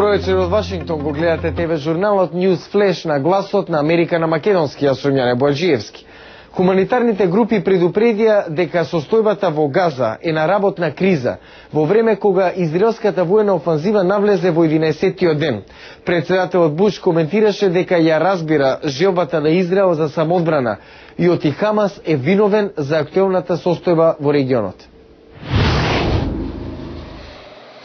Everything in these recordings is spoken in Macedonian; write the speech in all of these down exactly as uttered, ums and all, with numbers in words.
Добро вечер од Вашингтон, го гледате ТВ журналот News Flash на гласот на Америка на македонски, јас сум Јане Боаџиевски. Хуманитарните групи предупредија дека состојбата во Газа е на работна криза во време кога израелската воена офанзива навлезе во единаесеттиот ден. Председателот Буш коментираше дека ја разбира желбата на Израел за самоодбрана и оти Хамас е виновен за актуелната состојба во регионот.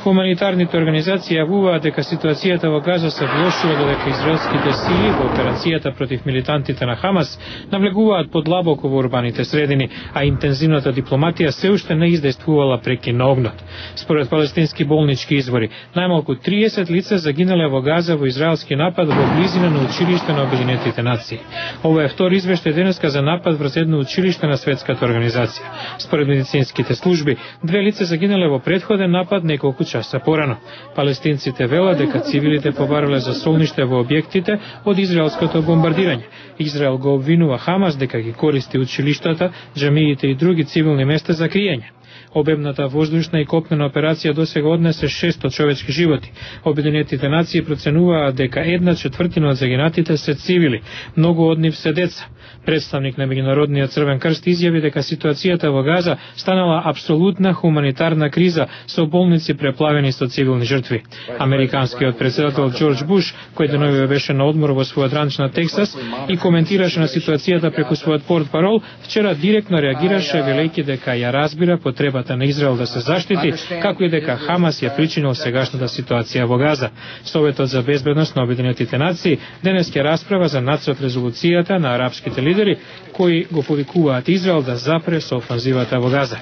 Хуманитарните организации јавуваат дека ситуацијата во Газа се влошува додека израелските сили во операцијата против милитантите на Хамас навлегуваат подлабоко во урбаните средини, а интензивната дипломатија се уште не издействувала прекин на огнот. Според палестински болнички извори, најмалку триесет лица загинале во Газа во израелски напад во близина на училиште на Обединетите нации. Ова е втори извештај денеска за напад врз едно училиште на светската организација. Според медицинските служби, две лица загинале во претходен напад неколку часа порано. Палестинците велат дека цивилите побарале за солниште во објектите од израелското бомбардирање. Израел го обвинува Хамас дека ги користи училиштата, џамиите и други цивилни места за криење. Обемната воздушна и копнена операција досега однесе шестстотини човечки животи. Обединетите нации проценуваат дека една четвртина од загинатите се цивили, многу од нив се деца. Представник на Меѓународниот Црвен крст изјави дека ситуацијата во Газа станала апсолутна хуманитарна криза со болници преплавени со цивилни жртви. Американскиот председател Џорџ Буш, кој деновиве беше на одмор во својот ранч на Тексас и коментираше на ситуацијата преку својот портпарол, вчера директно реагираше велејќи дека ја разбира потребата на Израел да се заштити, како и дека Хамас ја причинил сегашната ситуација во Газа. Советот за безбедност на Обединетите нации денес ќе расправа за нацрт резолуцијата на арапските лидери кои го повикуваат Израел да запре со офанзивата во Газа.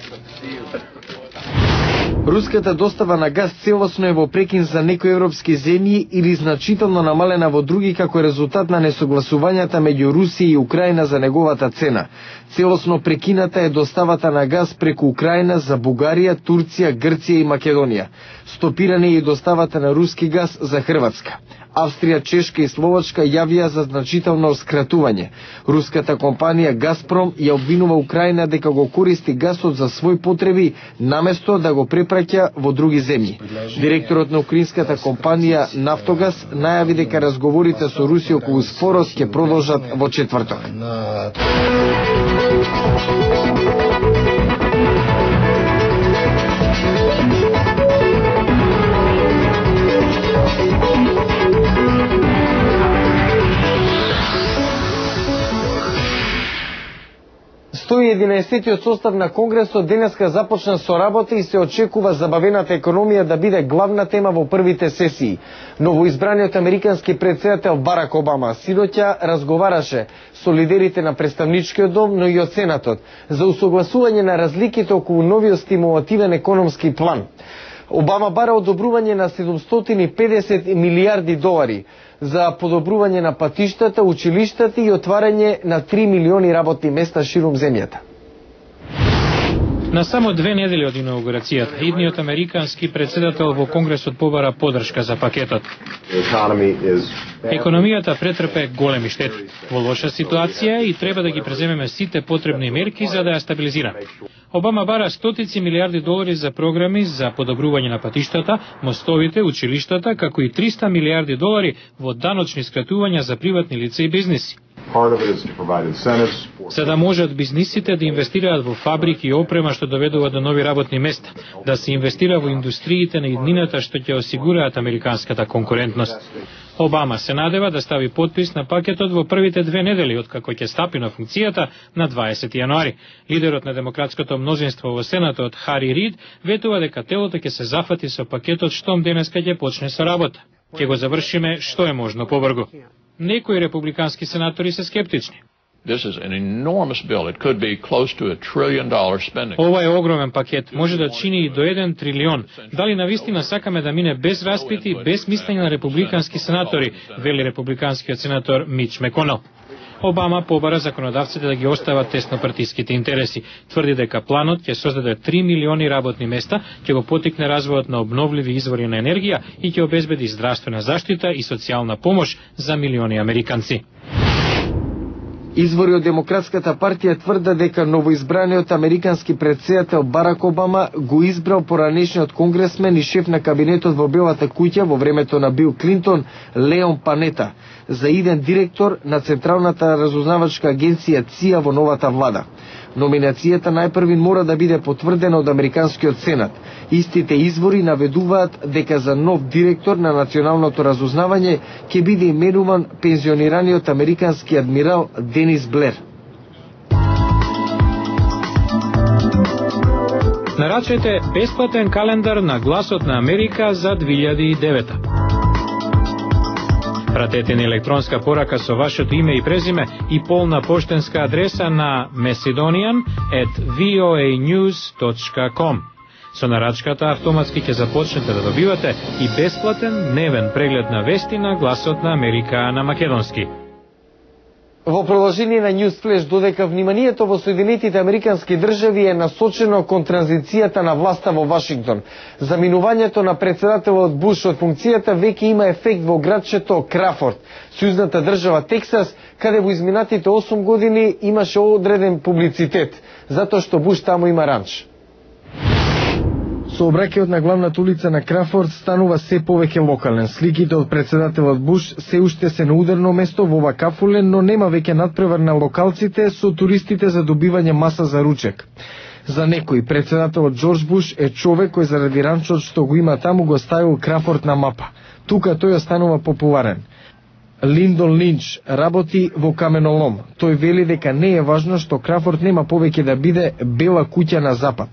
Руската достава на газ целосно е во прекин за некои европски земји или значително намалена во други како резултат на несогласувањата меѓу Русија и Украина за неговата цена. Целосно прекината е доставата на газ преку Украина за Бугарија, Турција, Грција и Македонија. Стопирана е и доставата на руски газ за Хрватска. Австрија, Чешка и Словачка јавија за значително скратување. Руската компанија Газпром ја обвинува Украина дека го користи гасот за своји потреби наместо да го препраќа во други земји. Директорот на украинската компанија Нафтогаз најави дека разговорите со Русија околу спорот ќе продолжат во четврток. сто и единаесеттиот состав на Конгресот денеска започна со работа и се очекува забавената економија да биде главна тема во првите сесии. Новоизбраниот американски председател Барак Обама синоќа разговараше со лидерите на представничкиот дом, но и од Сенатот, за усогласување на разликите околу новиот стимулативен економски план. Обама бара одобрување на седумстотини и педесет милијарди долари за подобрување на патиштата, училиштата и отварање на три милиони работни места ширум земјата. На само две недели од инаугурацијата, идниот американски председател во Конгресот побара поддршка за пакетот. Економијата претрпе големи штети. Во лоша ситуација и треба да ги преземеме сите потребни мерки за да ја стабилизираме. Обама бара стотици милиарди долари за програми за подобрување на патиштата, мостовите, училиштата, како и триста милиарди долари во даночни скратувања за приватни лица и бизниси. За да можат бизнисите да инвестираат во фабрики и опрема што доведува до нови работни места, да се инвестира во индустриите на иднината што ќе осигураат американската конкурентност. Обама се надева да стави подпис на пакетот во првите две недели откако ќе стапи на функцијата на дваесети јануари. Лидерот на демократското мнозинство во Сенатот Хари Рид ветува дека телото ќе се зафати со пакетот штом денеска ќе почне со работа. Ќе го завршиме што е можно побрзо. Некои републикански сенатори се скептични. This is an enormous bill. It could be close to a trillion dollar spending. Ова е огромен пакет, може да чини и до еден трилион. Дали навистина сакаме да мине без распити, без мислење на републикански сенатори, вели републиканскиот сенатор Мич Меконел. Обама побара законодавците да ги остават теснопартиските интереси. Тврди дека планот ќе создаде три милиони работни места, ќе го потикне развојот на обновливи извори на енергија и ќе обезбеди здравствена заштита и социјална помош за милиони американци. Извори од Демократската партија тврдат дека новоизбраниот американски претседател Барак Обама го избрал поранешниот конгресмен и шеф на кабинетот во Белата куќа во времето на Бил Клинтон, Леон Панета, за иден директор на Централната разузнавачка агенција ЦИА во новата влада. Номинацијата најпрви мора да биде потврдена од Американскиот Сенат. Истите извори наведуваат дека за нов директор на националното разузнавање ќе биде именуван пензионираниот американски адмирал Денис Блер. Нарачете бесплатен календар на Гласот на Америка за две илјади и девета. Пратете ни електронска порака со вашето име и презиме и полна поштенска адреса на macedonian at voanews точка com. Со нарачката автоматски ќе започнете да добивате и бесплатен дневен преглед на вести на Гласот на Америка на македонски. Во продолжение на News Flash додека вниманието во Соединетите Американски држави е насочено кон транзицијата на власта во Вашингтон. Заминувањето на претседателот Буш од функцијата веќе има ефект во градчето Крафорд, сојузната држава Тексас, каде во изминатите осум години имаше одреден публицитет, затоа што Буш таму има ранч. Сообраќајот на главната улица на Крафорд станува се повеќе локален. Сликите од претседателот Буш се уште се на ударно место во ова кафуле, но нема веќе надпревар на локалците со туристите за добивање маса за ручек. За некој, претседателот Џорџ Буш е човек кој заради ранчот што го има таму го ставил Крафорд на мапа. Тука тој останува популарен. Линдон Линч работи во каменолом. Тој вели дека не е важно што Крафорд нема повеќе да биде бела куќа на запад.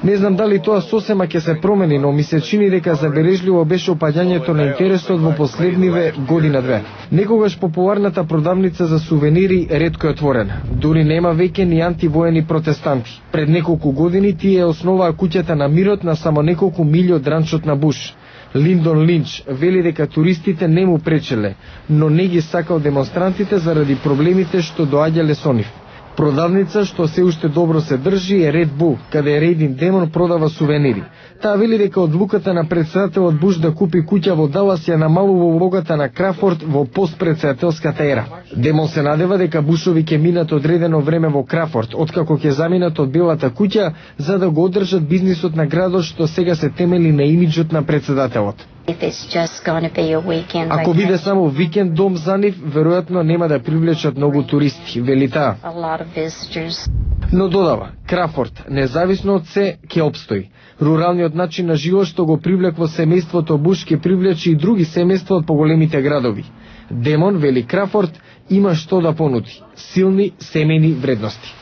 Не знам дали тоа сосема ќе се промени, но ми се чини дека забележливо беше опаѓањето на интересот во последниве година-две. Некогаш популарната продавница за сувенири ретко е отворена. Дури нема веќе ни антивоени протестанти. Пред неколку години тие основаа куќата на мирот на само неколку милји од ранчот на Буш. Линдон Линч вели дека туристите не му пречеле, но не ги сакал демонстрантите заради проблемите што доаѓале со нив. Продавница што се уште добро се држи е Red Bull, каде Рейдин Демон продава сувенири. Таа вели дека одлуката на претседателот Буш да купи куќа во Далас ја намалува улогата на Крафорд во постпредседателската ера. Демон се надева дека Бушови ќе минат одредено време во Крафорд, откако ќе заминат од Белата куќа, за да го одржат бизнисот на градот што сега се темели на имиџот на претседателот. Ако биде само викенд дом за нив, веројатно нема да привлечат многу туристи, вели таа. Но додава, Крафорд, независно од се, ќе опстои. Руралниот начин на живот што го привлекло семејството Буш ќе привлече и други семејства од поголемите градови. Демон, вели Крафорд, има што да понуди. Силни семејни вредности.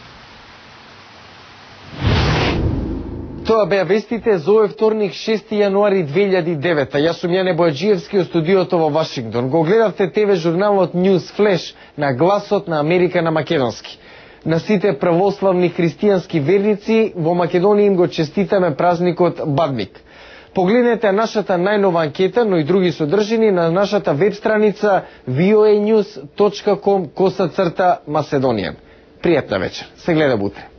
Тоа беа вестите за овој вторник шести јануари две илјади и девета. Јас сум Јане Бојаджиевски од студиото во Вашингтон. Го гледавте ТВ журналот News Flash на Гласот на Америка на македонски. На сите православни христијански верници во Македонија им го честитаме празникот Бадник. Погледнете нашата најнова анкета, но и други содржини на нашата веб страница voanews точка com косацрта Macedonian. Пријатна вечер. Се гледа утре.